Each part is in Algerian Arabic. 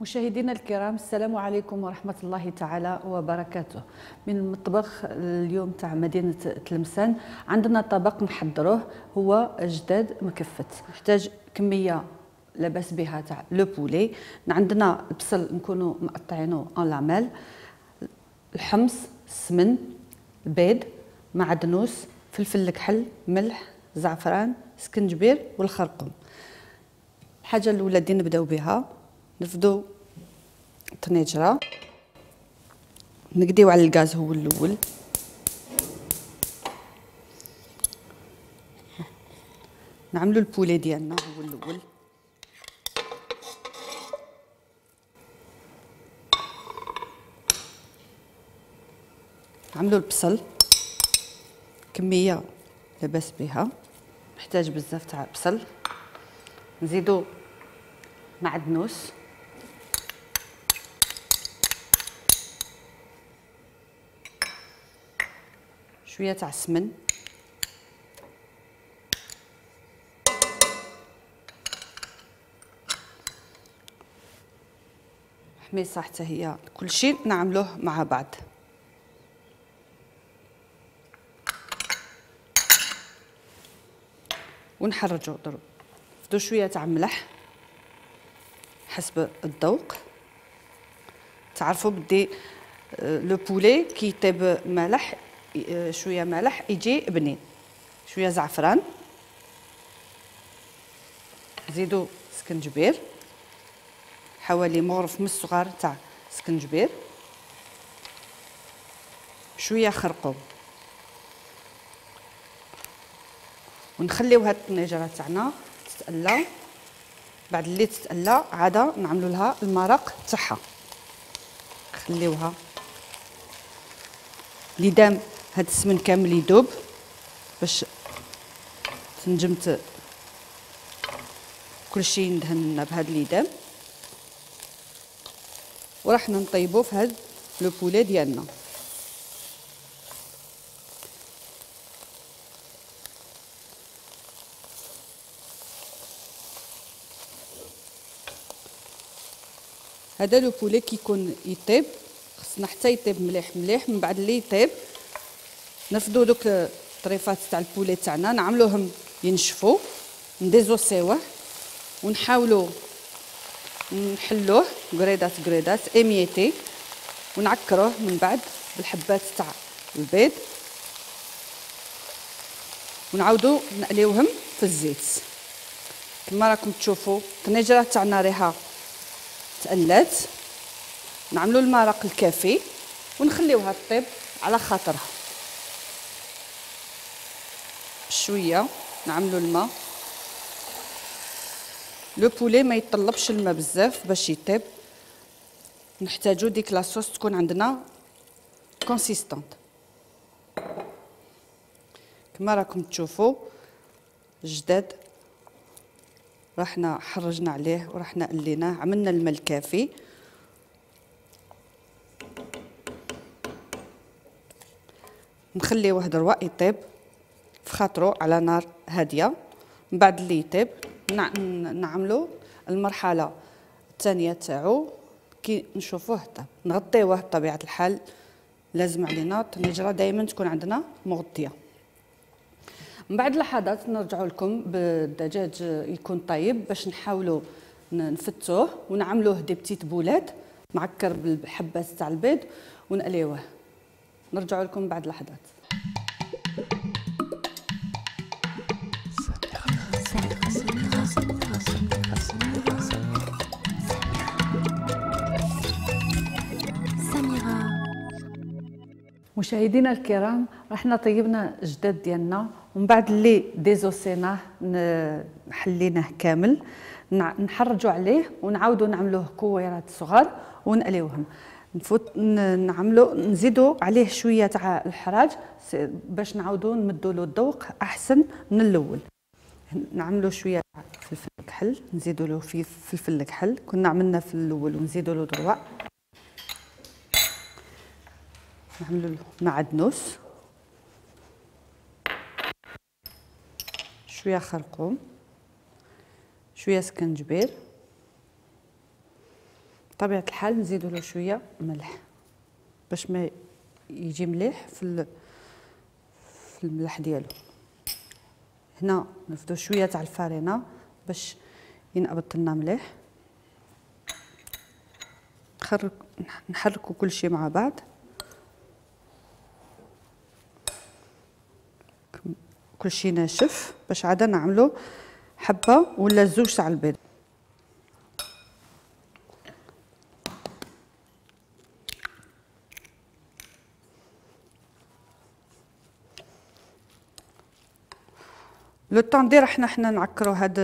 مشاهدينا الكرام، السلام عليكم ورحمة الله تعالى وبركاته. من المطبخ اليوم تاع مدينة تلمسان عندنا طبق نحضروه هو جداد مكفت. نحتاج كمية لاباس بها تاع لو بولي. عندنا البصل نكونوا مقطعينه اون لاميل، الحمص، السمن، البيض، معدنوس، فلفل الكحل، ملح، زعفران، سكنجبير والخرقوم. الحاجة الأولى اللي نبداو بها نفدو الطنجرة، نقديو على الغاز هو الاول، نعملو البولي ديالنا هو الاول، نعملو البصل كمية لاباس بها، محتاج بزاف تاع بصل، نزيدو معدنوس، شويه تاع السمن، حميصه حتى هي، كلشي نعملوه مع بعض. ونحرجو ضرب نزيدو شويه تاع ملح حسب الذوق. تعرفوا بدي لو بولي كي يطيب مالح، شويه مالح يجي بنين. شويه زعفران، نزيدو سكنجبير حوالي مغرف من الصغار تاع سكنجبير، شويه خرقوم، ونخليو هاد الطنجره تاعنا تتألى. بعد اللي تتألى عاده نعملو لها المرق تاعها، نخليوها ليدام هاد السمن كامل يذوب باش تنجم كلشي يندهن بهاد ليدام. وراح نطيبو في هاد لو بولي ديالنا. هذا لو بولي كيكون يطيب خصنا حتى يطيب مليح مليح. من بعد اللي يطيب نرفدو دوك الطريفات تاع البولي تاعنا، نعملوهم ينشفوا، نديزوسيوه، ونحاولوا نحلوه قريدات قريدات اميتي، ونعكروه من بعد بالحبات تاع البيض، ونعاودوا نقليوهم في الزيت. كما راكم تشوفوا الطنجره تاعنا ريحه تقلات، نعملوا المرق الكافي ونخليوها تطيب على خاطرها. شويه نعملوا الماء، لو بولي ما يطلبش الماء بزاف باش يطيب، نحتاجو ديك لاصوص تكون عندنا كونسيستونط. كما راكم تشوفوا الجداد راحنا حرجنا عليه وراحنا قليناه، عملنا الماء الكافي. نخليوه دروا يطيب في خاطرو على نار هاديه. من بعد اللي يطيب نعملو المرحله الثانيه تاعو كي نشوفوه طاب، نغطيوه بطبيعه الحال. لازم علينا الطنجره دائما تكون عندنا مغطيه. من بعد لحظات نرجعوا لكم بالدجاج يكون طيب باش نحاولوا نفتوه ونعملوه دي بتيت بولات معكر بالحبات تاع البيض ونقليوه. نرجعوا لكم بعد لحظات. مشاهدينا الكرام، رحنا طيبنا الجداد ديالنا، ومن بعد اللي ديزوسيناه حليناه كامل، نحرجوا عليه ونعاودوا نعملوه كويرات صغار ونقليوهم. نعملوا نزيدوا عليه شويه تاع الحراج باش نعاودوا نمدوا له الذوق احسن من الاول. نعملوا شويه فلفل الكحل، نزيدوا له فيه فلفل الكحل كنا عملنا في الاول ونزيدوا له دروا. نعملوا له معدنوس، شويه خرقوم، شويه سكنجبير، بطبيعه الحال نزيدوا له شويه ملح باش ما يجي مليح في الملح ديالو. هنا نفدو شويه تاع الفارينه باش ينقبض لنا مليح. نحركوا كل شيء مع بعض. كل شيء ناشف باش عاد نعملوا حبه ولا زوج تاع البيض. لو طون دير حنا نعكروا هاد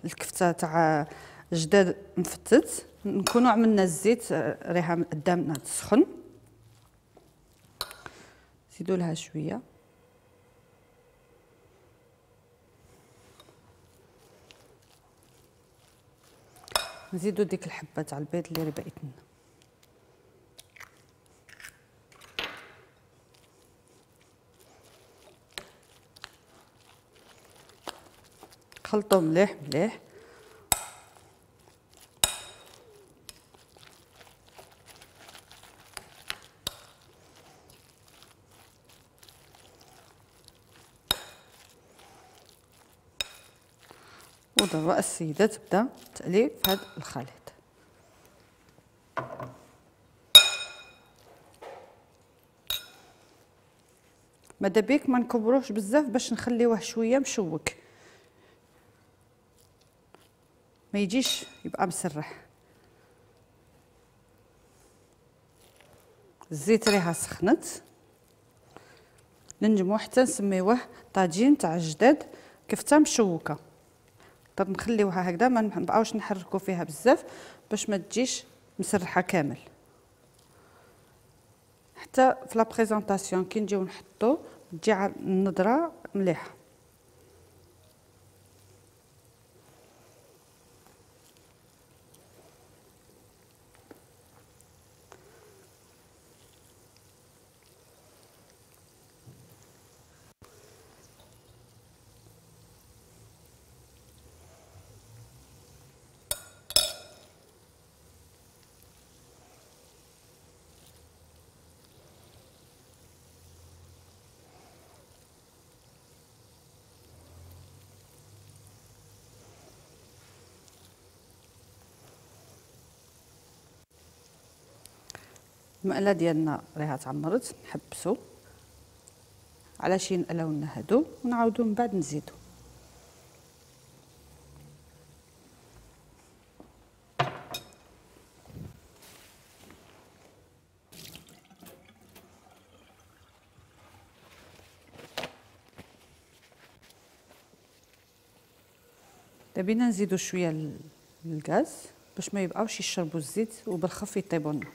الكفته تاع جداد مفتت، نكونوا عملنا الزيت ريحه قدامنا تسخن. زيدوا لها شويه. نزيدوا ديك الحبه تاع البيض اللي بقيت لنا. خلطوا مليح مليح. ودابا السيده تبدا تقلي في هذا الخليط. ماذا بيك ما نكبروهش بزاف باش نخليوه شويه مشوك، ما يجيش يبقى مسرح. الزيت ريحه سخنت، ننجمو حتى نسميوه طاجين تاع الجداد كفته مشوكه. نقدر نخليوها هكذا، ما نبقاوش نحركوا فيها بزاف باش ما تجيش مسرحه كامل. حتى في لا بريزونطاسيون كي نجيو نحطو تجي النضره مليحه. المقله ديالنا راها تعمرت، نحبسو على شي نقلاو لنا هادو ونعاودو من بعد نزيدو. دابينا نزيدو شويه الغاز باش ما يبقاوش يشربوا الزيت وبالخف يطيبوا لنا،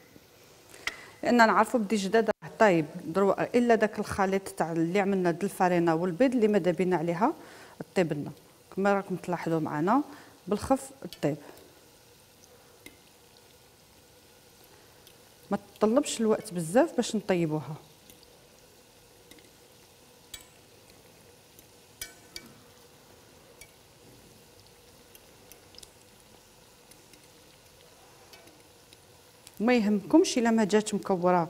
لان نعرفوا بدي جداد راه طايب دروك الا داك الخليط تاع اللي عملنا د الفارينه والبيض اللي ماذا بينا عليها طيب لنا. كما راكم تلاحظوا معنا بالخف طيب، ما تطلبش الوقت بزاف باش نطيبوها. ما يهمكمش الا ما جات مكوره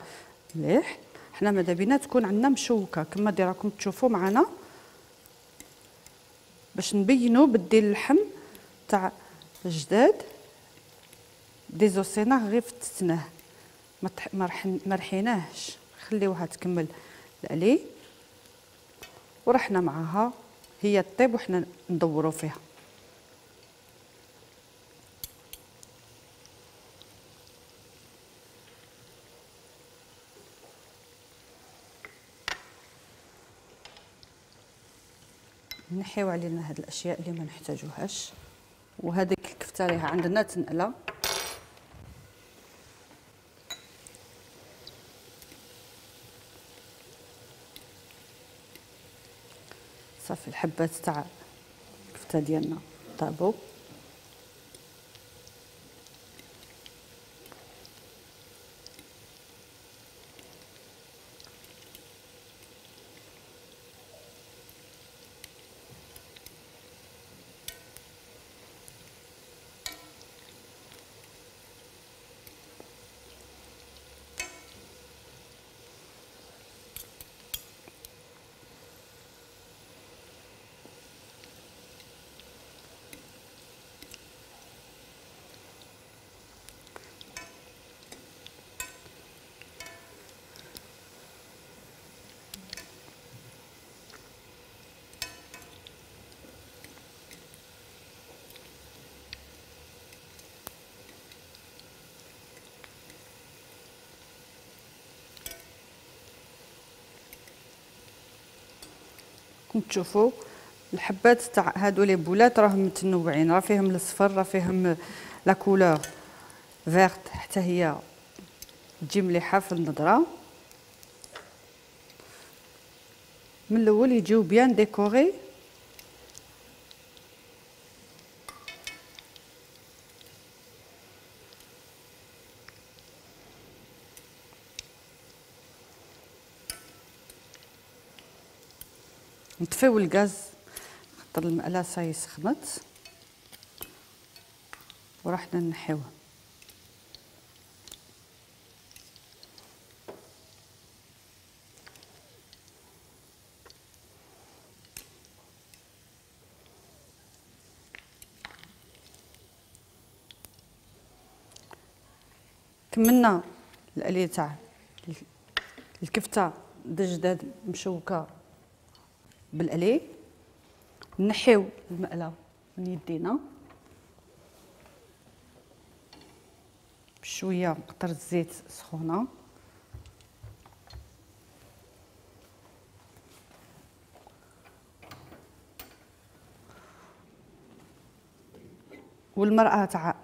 مليح، حنا ماذا بينا تكون عندنا مشوكه كما راكم تشوفوا معنا باش نبينوا بدي اللحم تاع الجداد ديزوسيناه غير فتتناه، ما رحيناهش، خليوها تكمل القلي ورحنا معاها هي طيب وحنا ندوروا فيها. نحيو علينا هاد الاشياء اللي ما نحتاجوهاش، وهذيك الكفته راها عندنا تنقله. صافي الحبات تاع الكفته ديالنا طابوا. كم تشوفوا الحبات تاع هادو لي بولات راهم متنوعين، راه فيهم الصفر، راه فيهم لا كولور فيرت حتى هي تجي مليحه في النظره. من الاول يجيو بيان ديكوري. نطفيو الغاز خاطر المقله صاي سخنت ورحنا نحيوه. كملنا الاليه تاع الكفته دجداد مشوكه بالاليه. نحيو المقله من يدينا بشويه قطره زيت سخونه. والمرأة تاع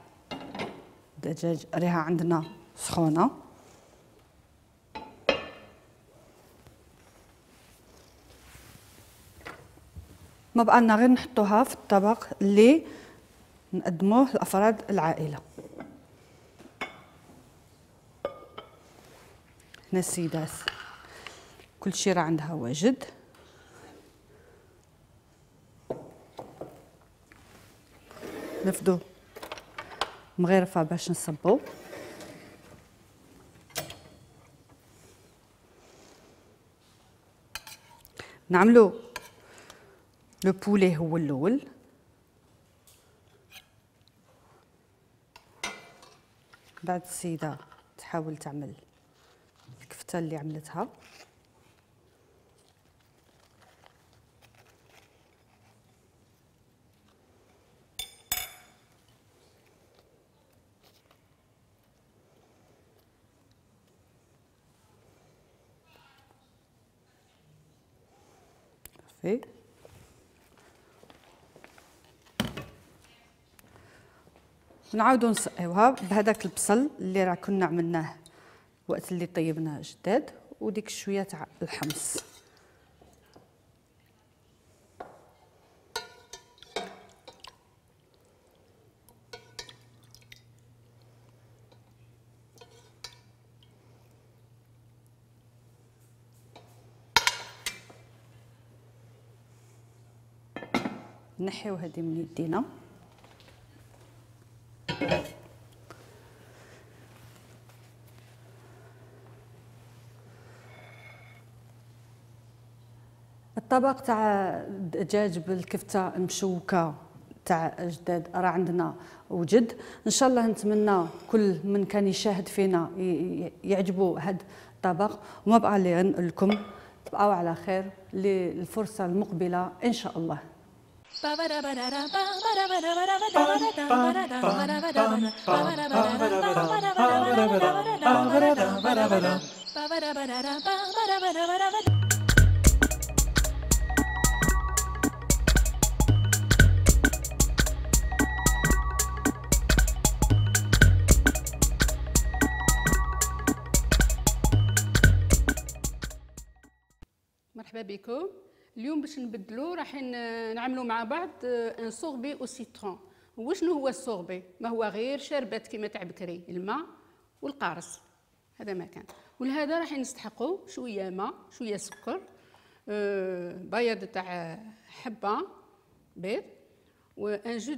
الدجاج ريها عندنا سخونه. ما بقالنا غير نحطوها في الطبق اللي نقدموه لافراد العائله. هنا السيدات كل شيء راه عندها واجد. نفدو مغرفه باش نصبو. نعملو لو بولي هو الاول، بعد السيده تحاول تعمل الكفته اللي عملتها. صافي نعاودو نسقيوها بهذاك البصل اللي راه كنا عملناه وقت اللي طيبناه جداد، وديك شويه تاع الحمص. نحيو هذه من يدينا. الطبق تاع الدجاج بالكفته المشوكه تاع جداد راه عندنا وجد. ان شاء الله نتمنى كل من كان يشاهد فينا يعجبوا هذا الطبق، وما بقى لي نقول لكم تبقاو على خير للفرصه المقبله ان شاء الله. مرحبا بكم. اليوم باش نبدلو راح نعملوا مع بعض ان سوربي او سيترون. وشنو هو السوربي؟ ما هو غير شربات كيما تاع بكري، الماء والقارص، هذا ما كان. ولهذا راح نستحقوا شويه ماء، شويه سكر، بياض تاع حبه بيض، وان جو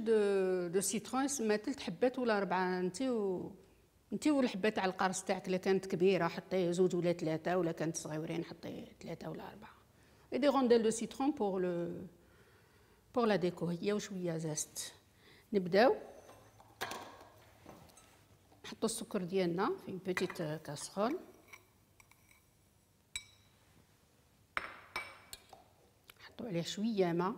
دو سيترون يسمى 3 حبات ولا 4. انت والحبه تاع القرص تاعك الا كانت كبيره حطي 2 ولا 3، ولا كانت صغيورين حطي 3 ولا 4. et des rondelles de citron pour la déco. هي وشويه زاست. نبداو نحطوا السكر ديالنا في بيتيت كاسرول. نحطوا عليه شويه ماء.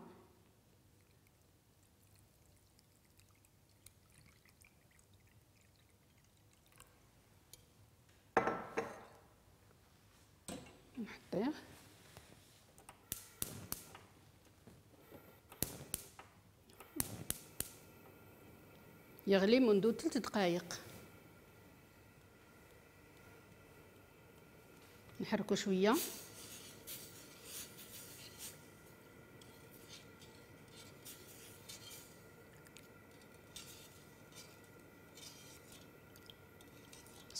نحطيه يغلي منذ 3 دقائق. نحركو شويه.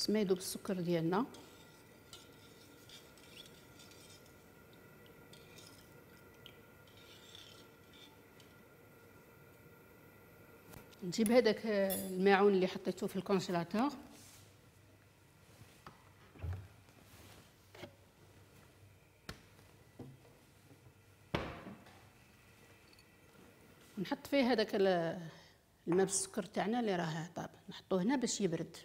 ما يذوب السكر ديالنا. نجيب هذاك الماعون اللي حطيته في الكونجيلاتور ونحط فيه هذاك الماء بالسكر تاعنا اللي راه طاب، نحطوه هنا باش يبرد.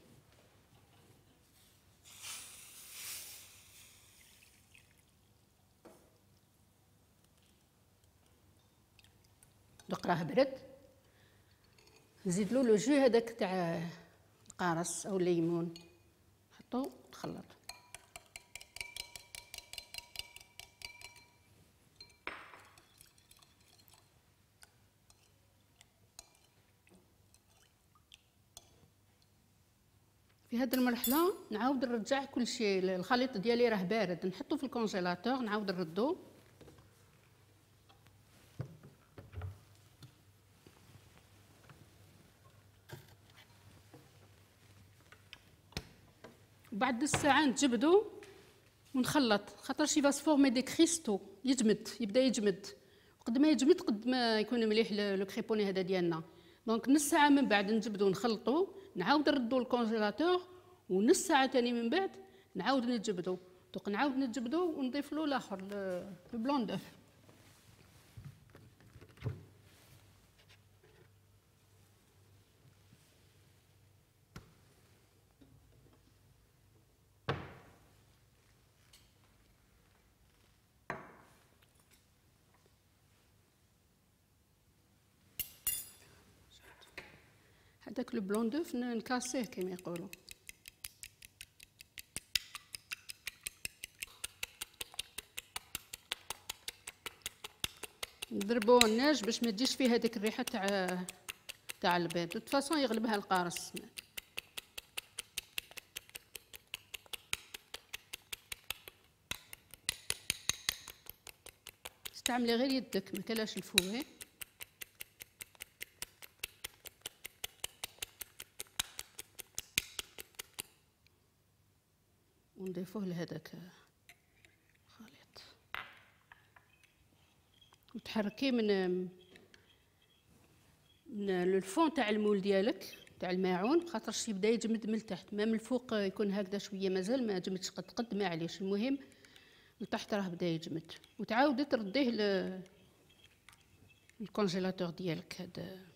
دوك راه برد، نزيد له لو جو هذاك تاع القارص او الليمون، نحطو نخلط. في هذه المرحله نعاود نرجع كل شيء. الخليط ديالي راه بارد، نحطو في الكونجيلاتور، نعاود نردو. بعد نص ساعه نتجبدو ونخلط، خاطرش يبقى فورمي دي كريستو، يجمد، يبدا يجمد. قد ما يجمد قد ما يكون مليح لو كريبوني هذا ديالنا. دونك نص ساعه من بعد نجبدو ونخلطو، نعاود نردو الكونجيلاتور، ونص ساعه ثاني من بعد نعاود نجبدو. دونك نعاود نجبدو ونضيف له الاخر البلون دوف. هذاك لو بلون دوف نكاسيه كما يقولوا. نضربوه الناج باش ما تجيش فيه هذيك الريحه تاع البيض. دو فاصون يغلبها القارص. استعملي غير يدك، ما كلاش الفويه. ونضيفوه لهذاك الخليط وتحركيه من الفون تاع المول ديالك تاع الماعون، خاطرش يبدا يجمد من التحت. ما من الفوق يكون هكذا شويه مازال ما جمدش قد ما عليش. المهم لتحت راه بدا يجمد. وتعاودي ترديه الكونجيلاتور ديالك. هذا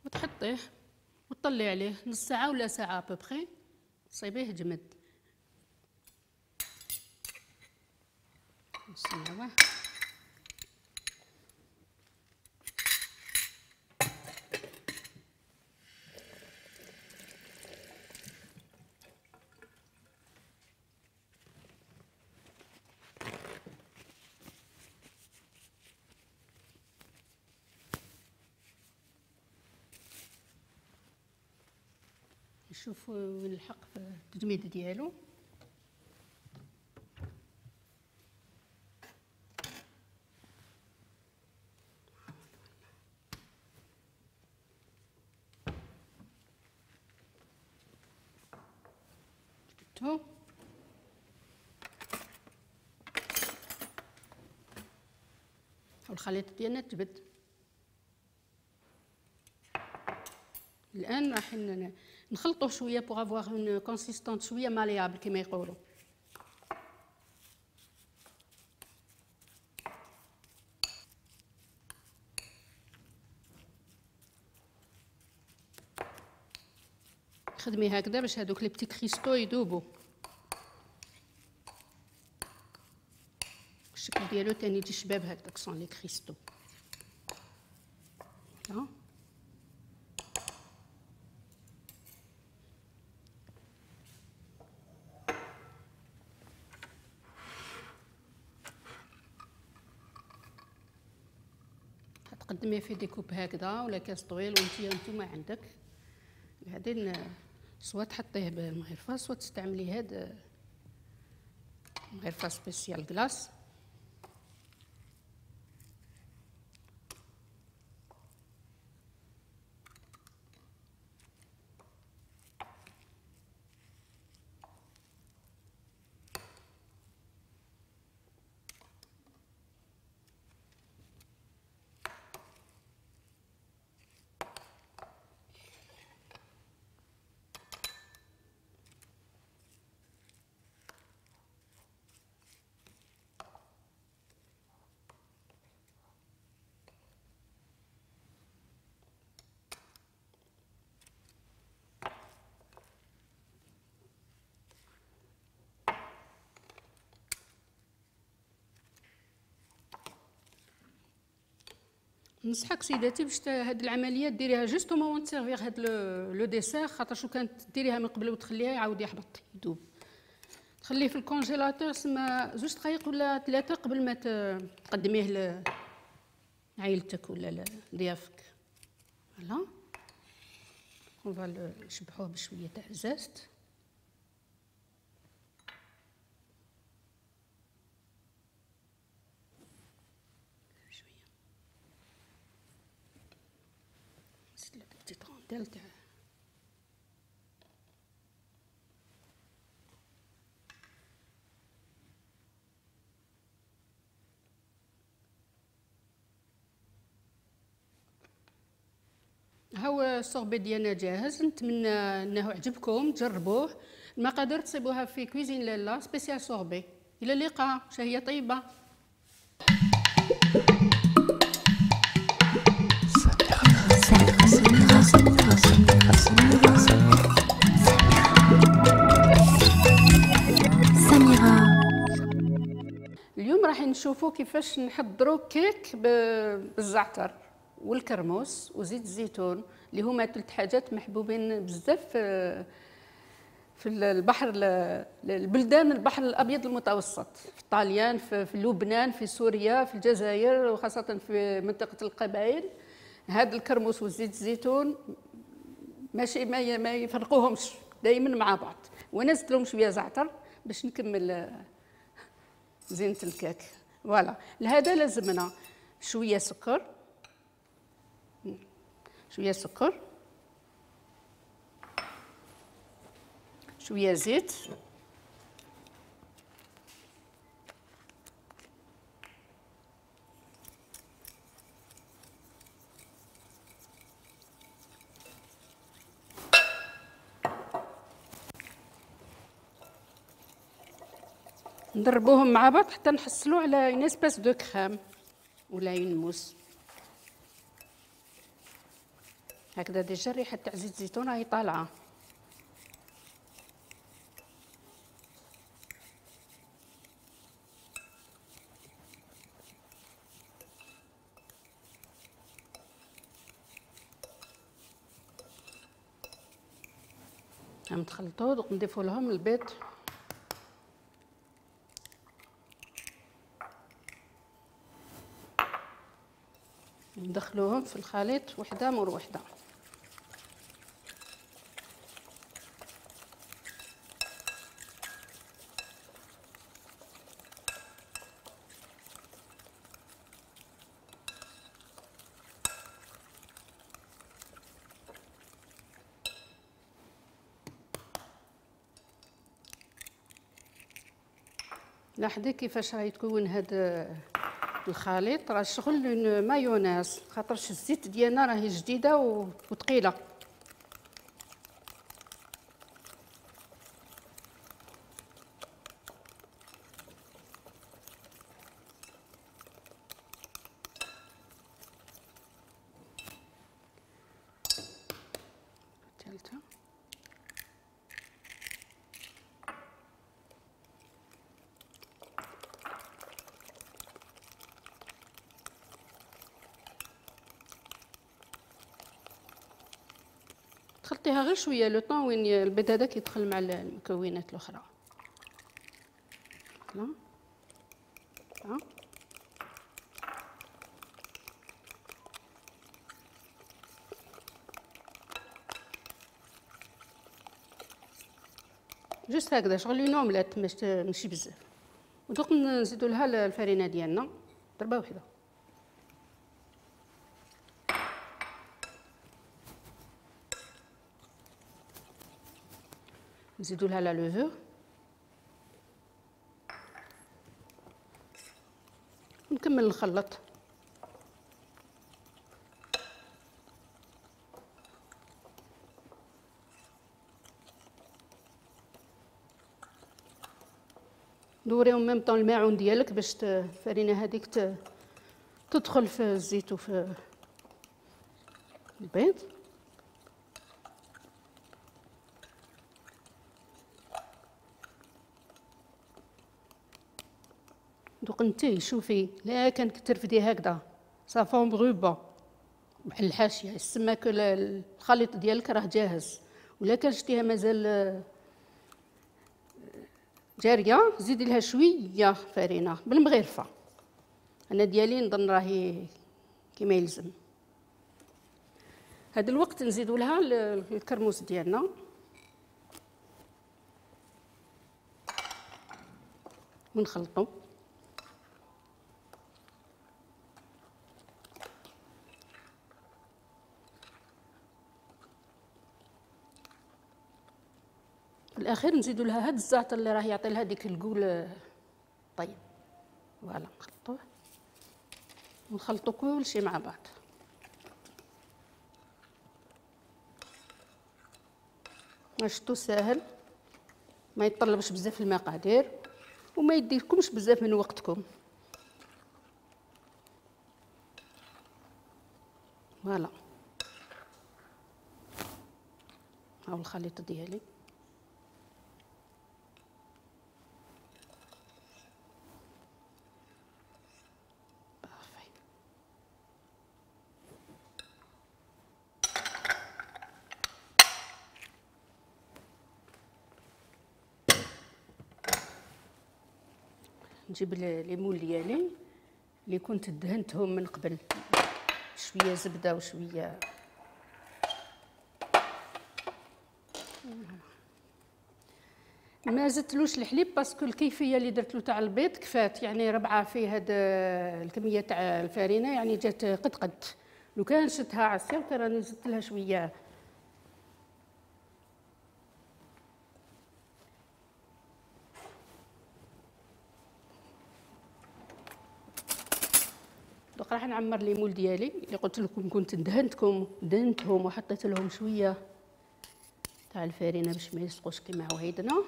وتحطيه وتطلي عليه نص ساعه ولا ساعه ببخي، تصيبيه جمد. نسيوه. نشوفوا وين الحق في التجميد ديالو. جبتو والخليط ديالنا تجبد. الان راح نخلطوه شويه بوغ افواغ اون كونسيستونس شويه ماليابل كما يقولوا. خدمي هكذا باش هذوك لي بتي كريستو يذوبوا. الشكل ديالو تاني يجي شباب هكذاك سون لي كريستو. تقدميها في ديكوب هكذا ولا كاس طويل وانتوما عندك بعدين سوا تحطيه بالمغرفه سوا تستعملي هاد مغرفه سبيسيال كلاص. نصحك سيداتي باش هاد العمليه ديريها جوستومون وانت تسيرفيغ هاد لو ديسير، خاطر شو كانت ديريها من قبل وتخليها يعاود يحبط يذوب. تخليه في الكونجيلاتور سما 2 دقائق ولا 3 قبل ما تقدميه لعائلتك ولا لضيافك. فوالا اون نشبحوه بشويه تاع زاست. تاع هاو الصوبي ديالنا جاهز. نتمنى انه عجبكم، تجربوه. المقادير تصيبوها في كويزين لالا سبيسيال صوبي. الى اللقاء، شهيه طيبه. اليوم راح نشوفوا كيفاش نحضروا كيك بالزعتر والكرموس وزيت الزيتون اللي هما 3 حاجات محبوبين بزاف في البحر البلدان البحر الابيض المتوسط، في طاليان، في لبنان، في سوريا، في الجزائر، وخاصه في منطقه القبائل. هذا الكرموس وزيت الزيتون ماشي ما يفرقوهمش، دائما مع بعض. وانا زدت لهم شويه زعتر باش نكمل زينة الكيك. فوالا لهذا لازمنا شويه سكر، شويه سكر، شويه زيت، نضربوهم مع بعض حتى نحصلوا على اون اسباس دو كريم ولا اون موس. هكذا ديجا الريحه تاع زيت الزيتون راهي طالعه. نخلطوا ونضيفوا لهم البيض. ندخلوهم في الخليط وحده مور وحده. لاحظي كيفاش راهي تكون هذا الخليط، راه شغل مايونيز، خاطرش الزيت ديالنا راهي جديده وثقيله. ثالثه تخلطيها غير شويه لو طون وين البيض هذاك يدخل مع المكونات الاخرى. ها جوست هكذا شغل اون اومليت ماشي بزاف. ودوك نزيدو لها الفرينه ديالنا ضربه وحده. نزيدو لها لا لوفور ونكمل نخلط. دوري ميم طون الماعون ديالك باش الفرينه هذيك تدخل في الزيت وفي البيض. دوك نتي شوفي لا كان ترفدي هكذا صافون مغروبه بحال الحاشيه يسمى كو الخليط ديالك راه جاهز. ولا كان شتيها مازال جاريه زيدي لها شويه فرينه بالمغرفه. انا ديالي نظن راهي كيما يلزم. هذا الوقت نزيدوا لها الكرموس ديالنا ونخلطوا. في الاخير نزيدوا لها هاد الزعتر اللي راه يعطي لها ديك القول طيب. فوالا نخلطوه ونخلطوا كل شيء مع بعض. شفتوا ساهل ما يتطلبش بزاف المقادير وما يديكمش بزاف من وقتكم. فوالا هاو الخليط ديالي. نجيب الليمون ديالي اللي كنت دهنتهم من قبل شويه زبده وشويه ما زدتلوش الحليب باسكو الكيفيه اللي درت له تاع البيض كفات. يعني ربعه فيه هاد الكميه تاع الفرينه يعني جات قد لو كان شدتها عصير كان راني زدت لها شويه. دوك راح نعمر ليمول ديالي اللي قلت لكم كنت دهنتهم وحطيت لهم شويه تاع الفرينه باش ما يلصقوش كيما عوايدنا.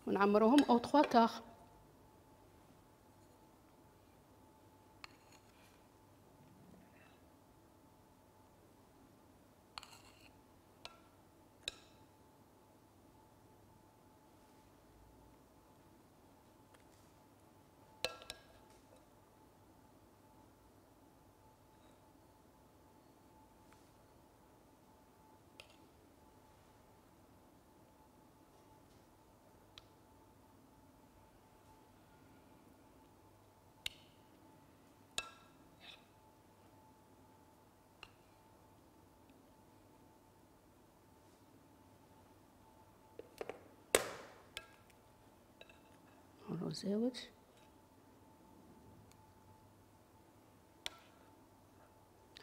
ونعمروهم او 3 كار. الرزاوج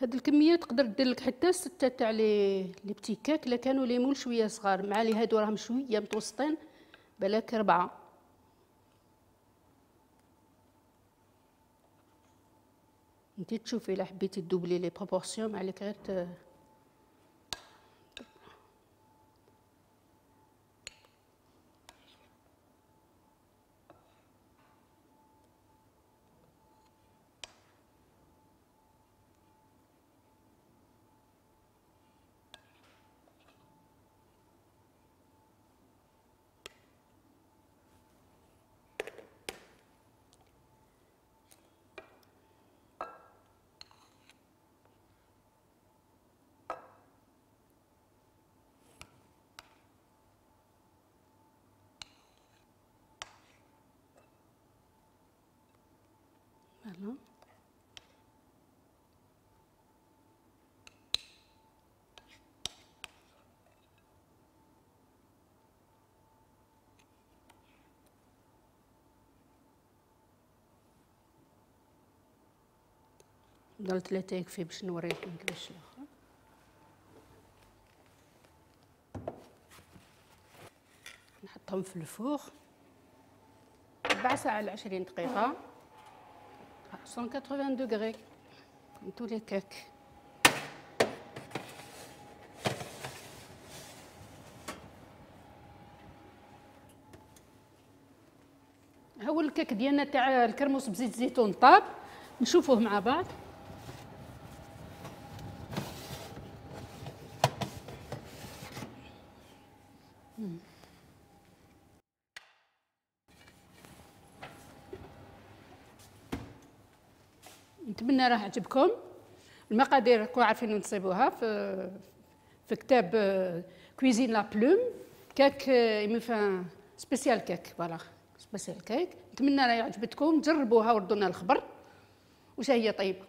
هاد الكميه تقدر دير لك حتى 6 تاع لي بتي كاك الا كانوا ليمون شويه صغار مع لي هادو راهم شويه متوسطين بالك 4. انتي تشوفي الا حبيتي تدوبلي لي بروبورسيون ما عليك غير ضل 3 يكفي باش نوريكم كيفاش الاخر. نحطهم في الفوغ 4 ساعات ل 20 دقيقة 180 دوغري كوم تو لي كيك. هو الكيك ديالنا تاع الكرموس بزيت الزيتون طاب، نشوفوه مع بعض. نتمنى راه عجبكم. المقادير راكم عارفين وين تصيبوها في كتاب كويزين لا بلوم. كيك ميفان سبيسيال كيك، فوالا سبيسيال كيك. نتمنى راه عجبتكم، جربوها وردونا الخبر واش هي طيبه.